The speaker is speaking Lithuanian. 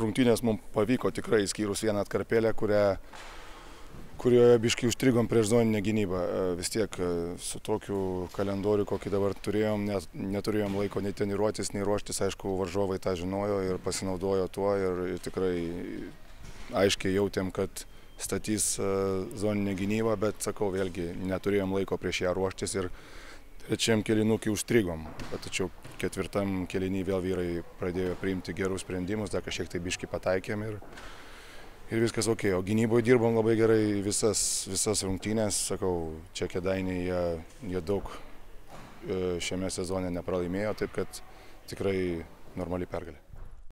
rungtynės mums pavyko tikrai, išskyrus vieną atkarpėlę, kurioje biškai užstrigom prieš zoninę gynybą. Vis tiek su tokiu kalendoriu, kokį dabar turėjom, neturėjom laiko nei treniruotis, nei ruoštis. Aišku, varžovai tą žinojo ir pasinaudojo tuo ir tikrai aiškiai jautėm, kad statys zoninę gynybą, bet sakau, vėlgi neturėjom laiko prieš ją ruoštis ir trečiam kėlinukį užstrigom. Tačiau ketvirtam kėlinį vėl vyrai pradėjo priimti gerus sprendimus, dar kažkiek tai biškai pataikėm ir viskas ok. O gynyboje dirbom labai gerai visas rungtynės. Sakau, čia Kėdainiai jie daug šiame sezone nepralaimėjo, taip kad tikrai normali pergalė.